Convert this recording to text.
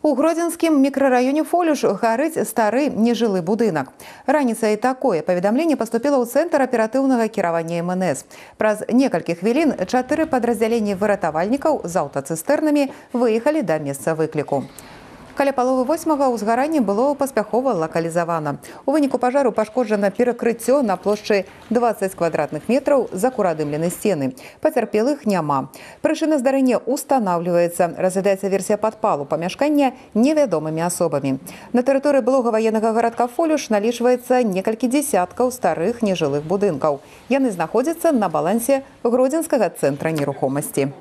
У Гродзенскім мікрараёне Фолюш гарыць стары нежылы будынак. Раніцай такое паведамленне паступіла ў цэнтр аператыўнага кіравання МНС. Праз некалькі хвілін 4 падраздзяленні выратавальнікаў з аўтацыстэрнамі выехалі да месца выкліку. Каля паловы 8-га ўзгаранне было паспяхова лакалізавана. У выніку пажару пашкоджана перакрыццё на плошчы 20 квадратных метраў, закурадымлены сцены. Пацярпелых няма. Прычына здарэння устанаўліваецца. Разглядаецца версія падпалу памяшкання невядомымі асобамі. На тэрыторыі былога ваеннага гарадка Фолюш налічваецца некалькі дзесяткаў старых нежылых будынкаў. Яны знаходзяцца на балансе Гродзенскага цэнтра нерухомасці.